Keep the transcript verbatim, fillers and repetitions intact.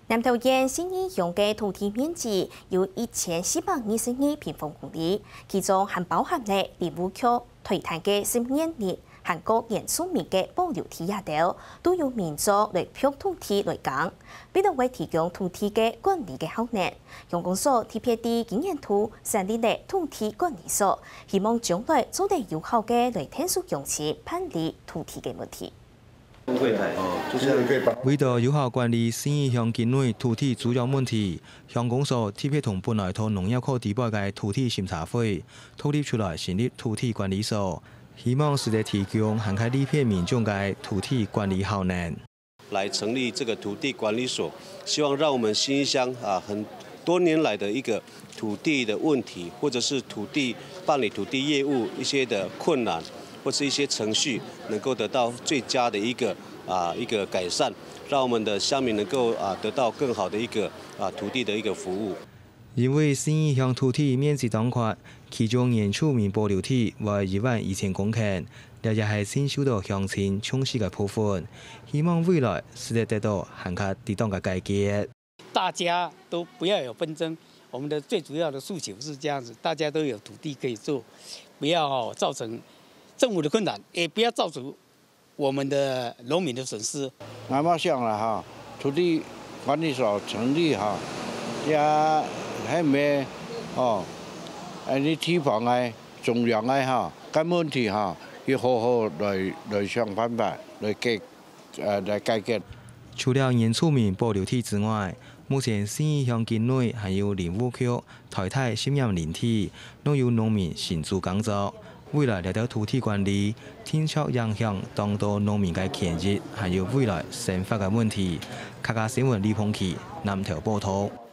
南投縣信義鄉个土地面積有一千四百二十二平方公里，其中還包含了林務局、台糖个十二年林，還過原住民个保留地這兜，都由民眾來撥土地來耕。為了會提供土地个管理个效能，鄉公所特別在今年度設立了土地管理所，希望將來做得有效个來𢯭手鄉親辦理土地个問題。 為著有效管理信義鄉境內土地租約問題，鄉公所特別同本來在農業課底背个土地審查會獨立出來成立土地管理所，希望使得提供涵蓋利便民眾个土地管理效能。來成立這個土地管理所，希望讓我們信義鄉啊，很多年來的一個土地的問題，或者是土地，辦理土地業務一些的困難，或是一些程序，能夠得到最佳的一個啊，一個改善，讓我們的鄉民能夠啊，得到更好的一個啊，土地的一個服務。因為信義鄉土地面積當闊，其中原住民保留地會一萬一千公頃，這也係信受到鄉親重視个部分，希望未來使得得到還較適當个解決。大家都不要有紛爭，我們的最主要的訴求是這樣子，大家都有土地可以做，不要造成政府的困難，也不要造成我們的農民的損失。𠊎嘛想啦哈，土地管理所成立哈，也係毋係哦，恁呢地方个、中央个哈，該問題哈，要好好來，來想辦法來解，呃，來解決。除了原住民保留地之外，目前信義鄉境內還有林務局、 大糖十二年林，攏有農民承租耕作。未來這兜土地管理，定著影響當多農民个權益，還有未來生活个問題。客家新聞李鵬奇，南投報導。